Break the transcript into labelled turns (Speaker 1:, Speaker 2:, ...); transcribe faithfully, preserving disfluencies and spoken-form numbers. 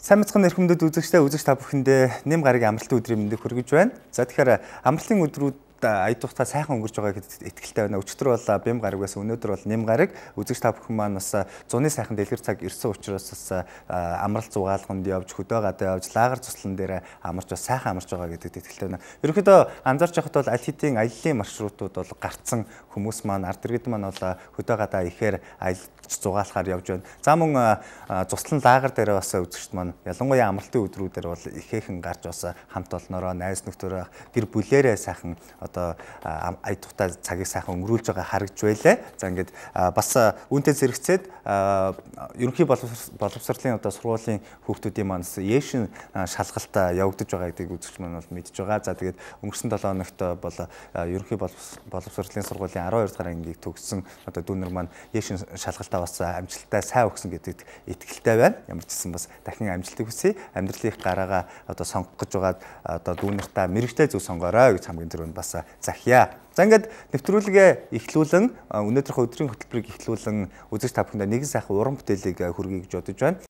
Speaker 1: Сайн мэцхан эрхэмдэд үзэгчтэй үзэгч та бүхэндээ нэм гарагийн амралтын өдрийн мэндийг хүргэж байна. За тэгэхээр амралтын өдрүүд ая тухтай сайхан өнгөрч байгаа гэдэгт итгэлтэй байна. Өчигдөр бол бэм гараг байсан, өнөөдөр бол нэм гараг. Үзэгч та бүхэн маань бас зуны сайхан дэлгэр цаг ирсэн учраас бас амралт зугаалганд явж, хөдөө гадаа явж, лагер цуслан дээр амарч бас сайхан амарч байгаа гэдэгт итгэлтэй байна. Ерөнхийдөө анзаарч байхад бол аль хэдийн аяллаа маршрутууд бол гарцсан хүмүүс маань ард иргэд маань бол хөдөө гадаа ихээр аялж зугаалахаар явж байна. За мөн цуслан лагер дээр бас үзэгчд маань ялангуяа амралтын өдрүүдээр бол ихээхэн гарч бас хамт олноороо, найз нөхдөөрөө гэр бүлээрээ сайхан одоо ая тухтай цагийг сайхан өнгөрүүлж байгаа харагдж байлаа. За ингээд бас үүнтэй зэрэгцээд ерөнхий боловсролын одоо сургуулийн хүүхдүүдийн маань Яшин шалгалт явагдаж байгаа гэдгийг үзэгч маань бол мэдж байгаа. За тэгээд өнгөрсөн долоо хоногт бол ерөнхий боловсролын сургуулийн аравдугаар дахь ангийг төгссөн одоо дүүнер маань Яшин шалгалтаа бас амжилттай сайн өгсөн гэдэгт итгэлтэй байна. Ямар ч гэсэн бас дахин амжилтыг хүсье. Амьдралын гараагаа одоо сонгох гэж байгаа одоо дүүнертаа мэрэгтэй зөв сонгоорой гэж хамгийн түрүүнд бас захиа. За ингээд нэвтрүүлгээ эхлүүлэн өнөөдрийнхөө өдрийн хөтөлбөрийг эхлүүлэн үзэж та бүхэндээ нэгэн сайхан уран бүтээлийг хүргэе гэж бодож байна.